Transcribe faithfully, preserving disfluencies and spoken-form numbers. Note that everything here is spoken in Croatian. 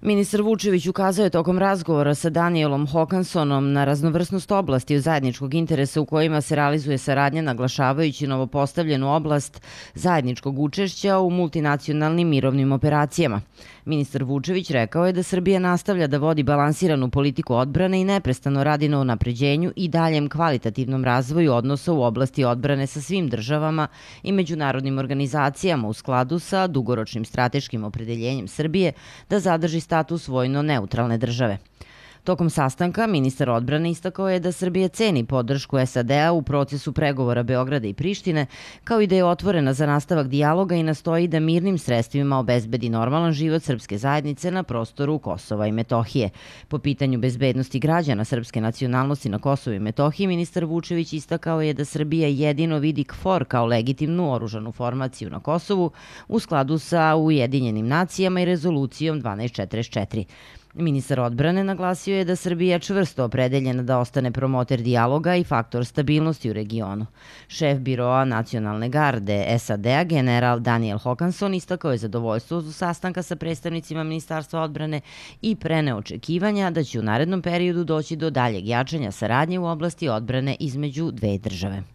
Ministar Vučević ukazao je tokom razgovora sa Danielom Håkanssonom na raznovrsnost oblasti od zajedničkog interesa u kojima se realizuje saradnja, naglašavajući novopostavljenu oblast zajedničkog učešća u multinacionalnim mirovnim operacijama. Ministar Vučević rekao je da Srbija nastavlja da vodi balansiranu politiku odbrane i neprestano radi na unapređenju i daljem kvalitativnom razvoju odnosa u oblasti odbrane sa svim državama i međunarodnim organizacijama u skladu sa dugoročnim strateškim opredeljenjem Srbije da zadrži status vojno neutralne države. Tokom sastanka, ministar odbrane istakao je da Srbija ceni podršku S A D-a u procesu pregovora Beograda i Prištine, kao i da je otvorena za nastavak dijaloga i nastoji da mirnim sredstvima obezbedi normalan život srpske zajednice na prostoru Kosova i Metohije. Po pitanju bezbednosti građana srpske nacionalnosti na Kosovu i Metohiji, ministar Vučević istakao je da Srbija jedino vidi KFOR kao legitimnu oružanu formaciju na Kosovu u skladu sa Ujedinjenim nacijama i rezolucijom dvanaest četrdeset četiri. Ministar odbrane naglasio je da Srbija čvrsto opredeljena da ostane promoter dijaloga i faktor stabilnosti u regionu. Šef biroa nacionalne garde S A D-a, general Daniel Håkansson, istakao je zadovoljstvo uz sastanka sa predstavnicima Ministarstva odbrane i preneo očekivanja da će u narednom periodu doći do daljeg jačanja saradnje u oblasti odbrane između dve države.